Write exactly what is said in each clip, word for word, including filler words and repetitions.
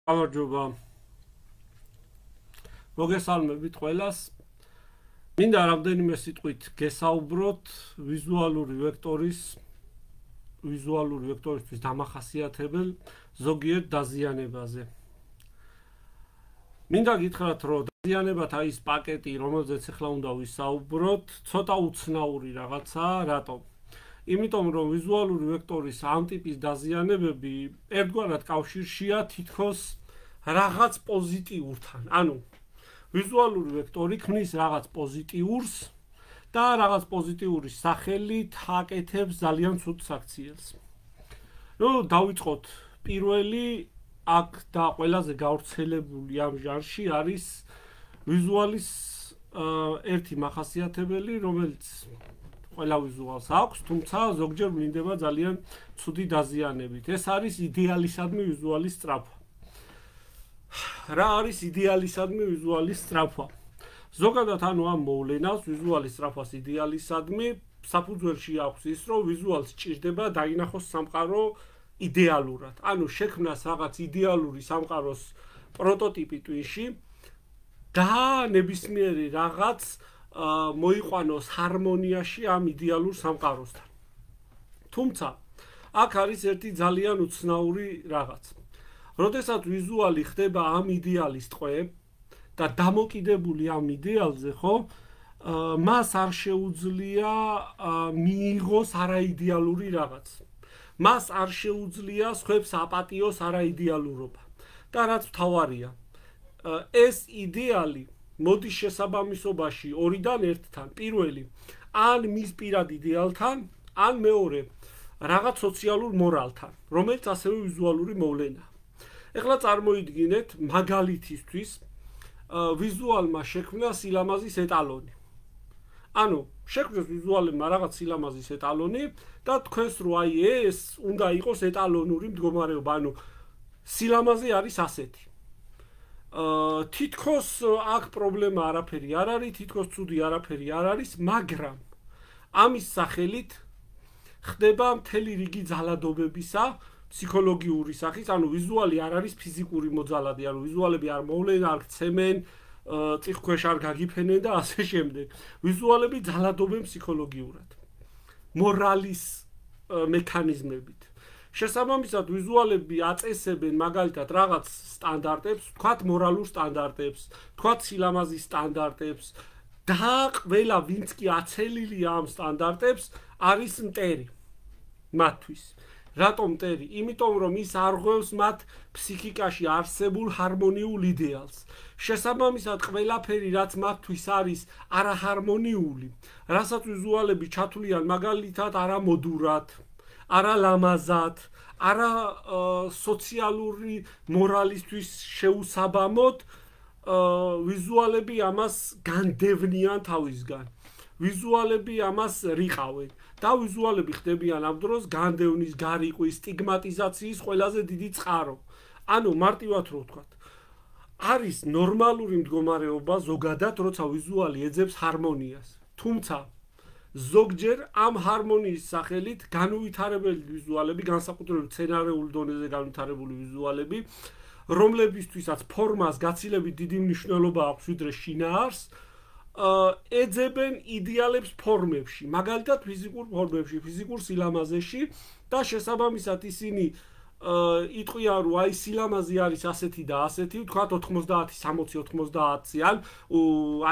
გამარჯობა. მოგესალმებით ყველას. მინდა რამდენიმე სიტყვით გესაუბროთ ვიზუალური ვექტორის ვიზუალური ვექტორისთვის დამახასიათებელ ზოგიერთ დაზიანებაზე. მინდა გითხრათ, რომ დაზიანებათა ის პაკეტი, რომელზეც ახლა უნდა ვისაუბროთ, ცოტა უცნაური რაღაცაა, რატომ? იმიტომ რომ ვიზუალური ვექტორის ამ ტიპის დაზიანებები ერთგვარად კავშირშია თითქოს რაღაც პოზიტიურთან. ანუ ვიზუალური ვექტორი ქმნის რაღაც პოზიტიურს და რაღაც პოზიტიური სახელით აკეთებს ძალიან ცუდ საქციელს. ნუ დავიწყოთ პირველი აქ და ყველაზე გავრცელებული ამ ჟანრში არის ვიზუალის ერთი მახასიათებელი, რომელიც ყველა ვიზუალს აქვს, თუმცა ზოგჯერ ვლინდება ძალიან ცუდი დაზიანებით. ეს არის იდეალისადმი ვიზუალის სწრაფვა. რა არის იდეალისადმი ვიზუალის სწრაფვა? ზოგადად ანუ ამ მოვლენას ვიზუალის სწრაფვას იდეალისადმი საფუძველში აქვს ის, რომ ვიზუალს სჭირდება დაინახოს სამყარო იდეალურად. ანუ შექმნას რაღაც იდეალური სამყაროს პროტოტიპი ტვინში და ნებისმიერი რაღაც მოიყვანოს ჰარმონიაში ამ იდეალურ სამყაროსთან. თუმცა აქ არის ერთი ძალიან უცნაური რაღაც. როდესაც ვიზუალი ხდება ამ იდეალის ტყვე და დამოკიდებული ამ იდეალზე, ხო, მას არ შეუძლია მიიღოს არაიდეალური რაღაც. მას არ შეუძლია სხვებს აპატიოს არაიდეალურობა. და რაც მთავარია, ეს იდეალი მოდის შესაბამისობაში ორიდან ერთთან. პირველი, ან მის პირად იდეალთან, ან მეორე, რაღაც სოციალურ მორალთან, რომელიც ასევე ვიზუალური მოვლენაა. ეხლა წარმოიდგინეთ, მაგალითისთვის, ვიზუალმა შექმნა სილამაზის ეტალონი. ანუ, შექმნეს ვიზუალებმა რაღაც სილამაზის ეტალონი და თქვენს რო აი ეს უნდა იყოს ეტალონური მდგომარეობა, ანუ სილამაზე არის ასეთი. თითქოს აქ პრობლემა არაფერი არ არის, თითქოს ცუდი არაფერი არ არის, მაგრამ ამის სახელით ხდება მთელი რიგი ძალადობებისა ფსიქოლოგიური სახის, ანუ ვიზუალი არ არის ფიზიკური მოძალადი, ანუ ვიზუალები არ მოვლენ, არ ქცემენ, წიხქვეშ არ გაგიფენენ და ასე შემდეგ. ვიზუალები ძალადობენ ფსიქოლოგიურად. მორალის მექანიზმებით. შესაბამისად ვიზუალები აწესებენ მაგალითად რაღაც სტანდარტებს, თქვათ მორალურ სტანდარტებს, თქვათ სილამაზის სტანდარტებს და ყველა ვინც კი აცელილია ამ სტანდარტებს არის მტერი მათთვის. რატომ მტერი? იმიტომ რომ ის არღვევს მათ ფსიქიკაში არსებულ ჰარმონიულ იდეალს. შესაბამისად ყველაფერი რაც მათთვის არის არაჰარმონიული, რასაც ვიზუალები ჩათვლიან მაგალითად არამოდურად, არა ლამაზად, არა სოციალური მორალისთვის შეუსაბამოდ, ვიზუალები ამას განდევნიან თავისგან. ვიზუალები ამას რიყავენ და ვიზუალები ხდებიან ამ დროს განდევნის, გარიყვის, სტიგმატიზაციის ყველაზე დიდი წყარო. ანუ მარტივად რო ვთქვათ, არის ნორმალური მდგომარეობა ზოგადად, როცა ვიზუალი ეძებს ჰარმონიას. თუმცა ზოგჯერ ამ ჰარმონიის სახელით განუვითარებელი ვიზუალები, განსაკუთრებით სცენარულ დონეზე განვითარებული ვიზუალები, რომლებისთვისაც ფორმას გაცილებით დიდი მნიშვნელობა აქვს ვიდრე შინაარს, ეძებენ იდეალებს ფორმებში, მაგალითად ფიზიკურ ფორმებში, ფიზიკურ სილამაზეში და შესაბამისად ისინი იტყვიან, რომ აი სილამაზი არის ასეთი და ასეთი, ვთქვათ ოთხმოცდაათი სამოცი ოთხმოცდაათი, ან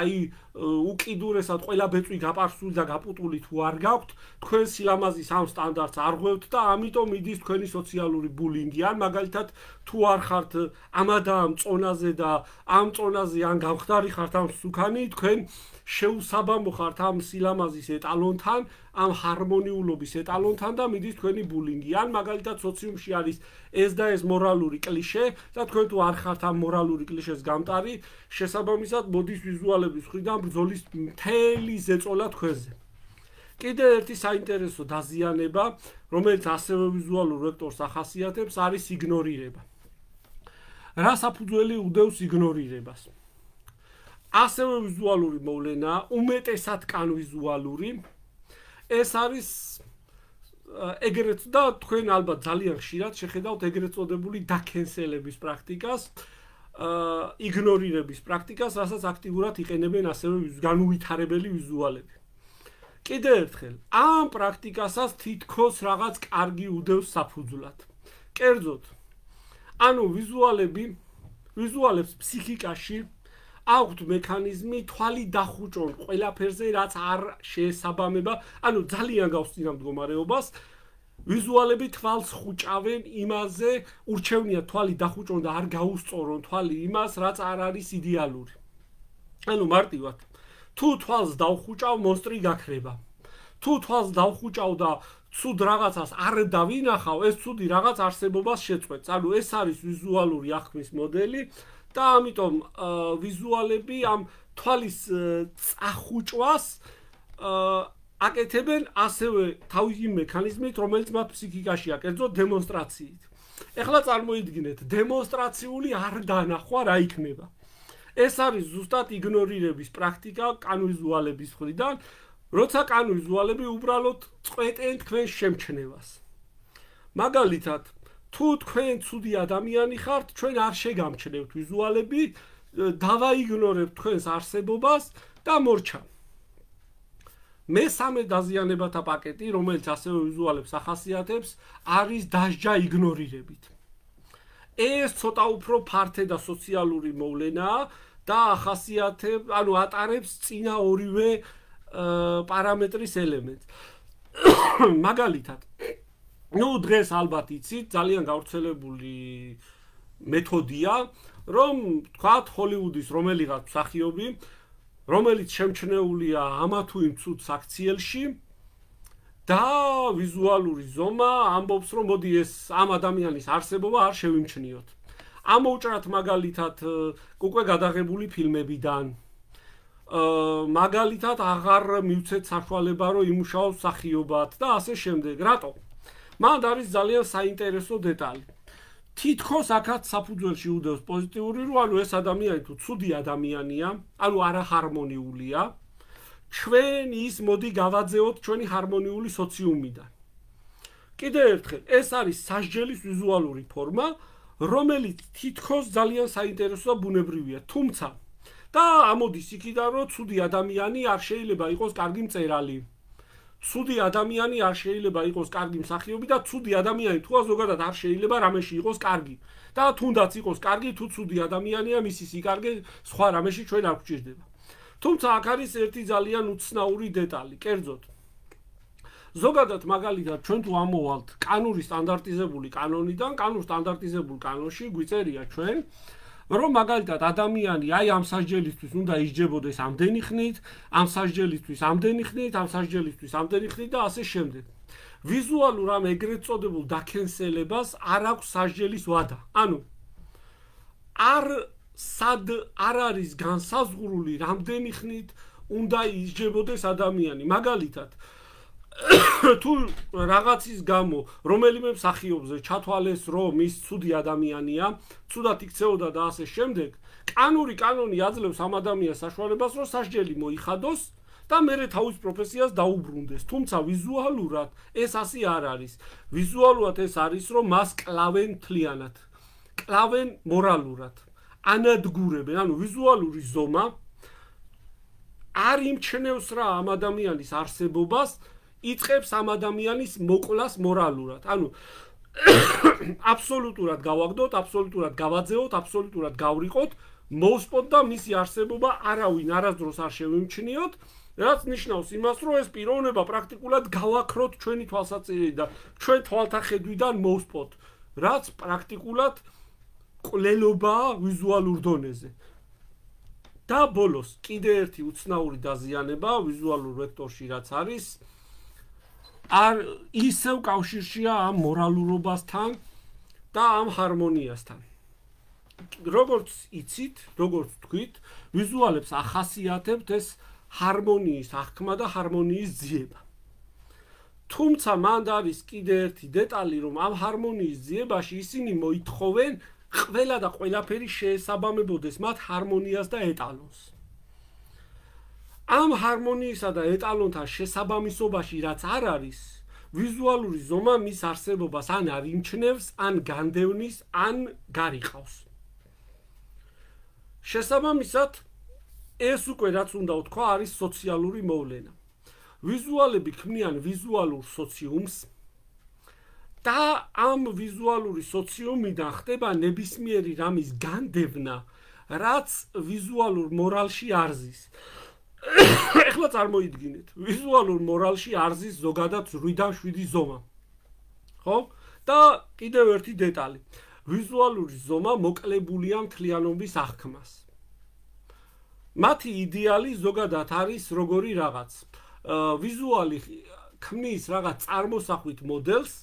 აი უკიდურესად ყველა ბეწვი გაპარსული და გაპუტული თუ არ გაქვთ, თქვენ სილამაზის ამ სტანდარტს არ ღვევთ და ამიტომ მიდის თქვენი სოციალური ბულინგი, ან მაგალითად თუ არ ხართ ამადამ წონაზე და ამ წონაზე ან გამხდარი ხართ ამ სუქანი, თქვენ შეუსაბამო ხართ ამ სილამაზის ეტალონთან, ამ ჰარმონიულობის ეტალონთან და მიდის თქვენი ბულინგი. ან მაგალითად სოციუმში არის ეს და ეს მორალური კლიშე და თქვენ თუ არ ხართ ამ მორალური კლიშეს გამტარი, შესაბამისად მოდის ვიზუალების მხრიდან ბრძოლის მთელი ზეწოლა თქვენზე. კიდევ ერთი საინტერესო დაზიანება, რომელიც ასევე ვიზუალურ ვექტორს ახასიათებს, არის იგნორირება. რა საფუძველი უდევს იგნორირებას? ასევე ვიზუალური მოვლენა, უმეტესად კან ვიზუალური, ეს არის ეგრეთ და თქვენ ალბათ ძალიან ხშირად შეხედავთ ეგრეთ წოდებული დაკენსელების პრაქტიკას, იგნორირების პრაქტიკას, რასაც აქტიურად იყენებენ ასევე განუვითარებელი ვიზუალები. კიდევ ერთხელ, ამ პრაქტიკასაც თითქოს რაღაც კარგი უდევს საფუძვლად. კერძოდ, ანუ ვიზუალები, ვიზუალებს ფსიქიკაში აქვთ მექანიზმი თვალი დახუჭონ ყველაფერზე, რაც არ შეესაბამება, ანუ ძალიან გავსწინა მდგომარეობას, ვიზუალები თვალს ხუჭავენ იმაზე, ურჩევნია თვალი დახუჭონ და არ გაუსწორონ თვალი იმას, რაც არ არის იდეალური. ანუ მარტივად, თუ თვალს დავხუჭავ, მონსტრი გაქრება. თუ თვალს დავხუჭავ და ცუდ რაღაცას არ დავინახავ, ეს ცუდი რაღაც არსებობას შეწყვეტს. ანუ ეს არის ვიზუალური აღქმის მოდელი და ამიტომ ვიზუალები ამ თვალის წახუჭვას აკეთებენ ასევე თავისი მექანიზმით, რომელიც მათ ფსიქიკაშია, კერძოდ დემონსტრაციით. ეხლა წარმოიდგინეთ, დემონსტრაციული არ დანახვა რა იქნება. ეს არის ზუსტად იგნორირების პრაქტიკა კანვიზუალების მხრიდან, როცა კანვიზუალები უბრალოდ წყვეტენ თქვენ შემჩნევას. მაგალითად, თუ თქვენ ცუდი ადამიანი ხართ, ჩვენ არ შეგამჩნევთ ვიზუალები, დავაიგნორებთ თქვენს არსებობას და მორჩა. მესამე დაზიანებათა პაკეტი, რომელიც ასევე ვიზუალებს ახასიათებს, არის დასჯა იგნორირებით. ეს ცოტა უფრო ფართე და სოციალური მოვლენაა და ახასიათებს, ანუ ატარებს წინა ორივე პარამეტრის ელემენტს. მაგალითად, ნუ დღეს ალბათ იცით, ძალიან გავრცელებული მეთოდია, რომ თქვათ ჰოლივუდის რომელიღაც მსახიობი, რომელიც შემჩნეულია ამა თუ იმ ცუდ საქციელში და ვიზუალური ზომა ამბობს, რომ მოდი ეს ამ ადამიანის არსებობა არ შევიმჩნიოთ. ამოუჭრათ მაგალითად უკვე გადაღებული ფილმებიდან. მაგალითად აღარ მივცეთ საშუალება, რომ იმუშაოს მსახიობად და ასე შემდეგ. რატო? მან არის ძალიან საინტერესო დეტალი. თითქოს აქაც საფუძველში უდევს პოზიტიური, რომ ანუ ეს ადამიანი თუ ცუდი ადამიანია, ანუ არაჰარმონიულია, ჩვენ ის მოდი გავაძეოთ ჩვენი ჰარმონიული სოციუმიდან. კიდევ ერთხელ, ეს არის სასჯელის ვიზუალური ფორმა, რომელიც თითქოს ძალიან საინტერესო და ბუნებრივია, თუმცა და ამოდის იქიდან, რომ ცუდი ადამიანი არ შეიძლება იყოს კარგი მწერალი. ცუდი ადამიანი არ შეიძლება იყოს კარგი მსახიობი და ცუდი ადამიანი თუ ზოგადად არ შეიძლება რამეში იყოს კარგი. და თუნდაც იყოს კარგი, თუ ცუდი ადამიანია, მისი სიკარგე სხვა რამეში ჩვენ არ გვჭირდება. თუმცა აქ არის ერთი ძალიან უცნაური დეტალი, კერძოდ. ზოგადად მაგალითად ჩვენ თუ ამოვალთ კანური სტანდარტიზებული კანონიდან, კანურ სტანდარტიზებულ კანონში გვიწერია ჩვენ, რომ მაგალითად ადამიანი აი ამ სასჯელისთვის უნდა ისჯებოდეს ამდენი ხნით, ამ სასჯელისთვის ამდენი ხნით, ამ სასჯელისთვის ამდენი ხნით და ასე შემდეგ. ვიზუალურ ამ ეგრეთ წოდებულ დაკენსელებას არ აქვს სასჯელის ვადა. ანუ არ სად არ არის განსაზღვრული რამდენი ხნით უნდა ისჯებოდეს ადამიანი. მაგალითად თუ რაღაცის გამო რომელიმე მსახიობზე ჩათვალეს, რომ ის ცუდი ადამიანია, ცუდად იქცეოდა და ასე შემდეგ, კანური კანონი აძლევს ამ ადამიანს საშუალებას, რომ სასჯელი მოიხადოს და მერე თავის პროფესიას დაუბრუნდეს. თუმცა ვიზუალურად ეს ასე არ არის. ვიზუალურად ეს არის, რომ მას კლავენ მთლიანად. კლავენ მორალურად. ანადგურებენ, ანუ ვიზუალური ზომა არ იმჩნევს რა ამ ადამიანის არსებობას, იწყებს ამ ადამიანის მოკვლას მორალურად. ანუ აბსოლუტურად გავაგდოთ, აბსოლუტურად გავაძეოთ, აბსოლუტურად გავრიყოთ, მოვსპოთ და მისი არსებობა არავინ არასდროს არ შევიმჩნიოთ, რაც ნიშნავს იმას, რომ ეს პიროვნება პრაქტიკულად გავაქროთ ჩვენი თვალსაჩინით და ჩვენ თვალთა ხედვიდან მოვსპოთ, რაც პრაქტიკულად კვლელობაა ვიზუალურ დონეზე. და ბოლოს კიდე ერთი უცნაური დაზიანება ვიზუალურ ვექტორში რაც არის, არ ისევ კავშირშია ამ მორალურობასთან და ამ ჰარმონიასთან. როგორც იცით, როგორც თქვით, ვიზუალებს ახასიათებთ ეს ჰარმონიის აღქმა და ჰარმონიის ძიება. თუმცა მანდ არის კიდე ერთი დეტალი, რომ ამ ჰარმონიის ძიებაში ისინი მოითხოვენ ყველა და ყველაფერი შეესაბამებოდეს მათ ჰარმონიას და ეტალონს. ამ ჰარმონიისა და ეტალონთან შესაბამისობაში რაც არ არის, ვიზუალური ზომა მის არსებობას ან არ იმჩნევს, ან განდევნის, ან გარიყავს. შესაბამისად, ეს უკვე რაც უნდა ვთქვა, არის სოციალური მოვლენა. ვიზუალები ქმნიან ვიზუალურ სოციუმს და ამ ვიზუალური სოციუმიდან ხდება ნებისმიერი რამის განდევნა, რაც ვიზუალურ მორალში არ ზის. ეხლა წარმოიდგინეთ, ვიზუალურ მორალში არ ზის ზოგადად ორი შვიდი ზომა. ხო? და კიდევ ერთი დეტალი. ვიზუალური ზომა მოკლებულია მთლიანობის აღქმას. მათი იდეალი ზოგადად არის როგორი რაღაც. ვიზუალი ქმნის რაღაც წარმოსახვით მოდელს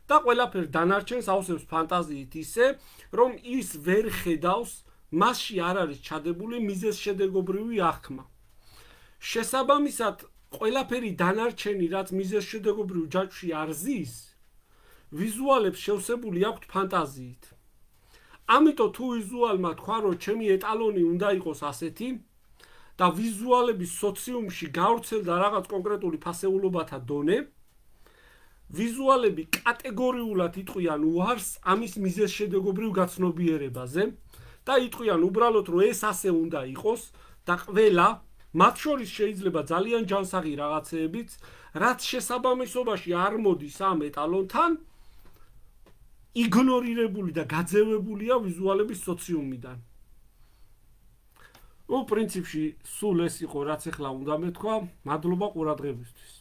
და ყველაფერ დანარჩენს ავსებს ფანტაზიით ისე, რომ ის ვერ ხედავს, მასში არ არის ჩადებული მიზეზშედეგობრივი აღქმა. შესაბამისად, ყველაფერი დანარჩენი, რაც მიზეზშედეგობრივ ჯაჭვში არ ზის, ვიზუალებს შევსებული აქვთ ფანტაზიით. ამიტომ თუ ვიზუალმა თქვა, რომ ჩემი ეტალონი უნდა იყოს ასეთი და ვიზუალების სოციუმში გავრცელდა რაღაც კონკრეტული ფასეულობათა დონე, ვიზუალები კატეგორიულად იტყვიან უარს ამის მიზეზშედეგობრივ გაცნობიერებაზე და იტყვიან უბრალოდ, რომ ეს ასე უნდა იყოს და ყველა, მათ შორის შეიძლება ძალიან ჯანსაღი რაღაცეებიც, რაც შესაბამისობაში არ მოდის ამ ეტალონთან, იგნორირებული და გაძევებულია ვიზუალების სოციუმიდან. ну, в принципе, სულ ეს იყო, რაც ახლა უნდა მეთქვა. მადლობა ყურადღებისთვის.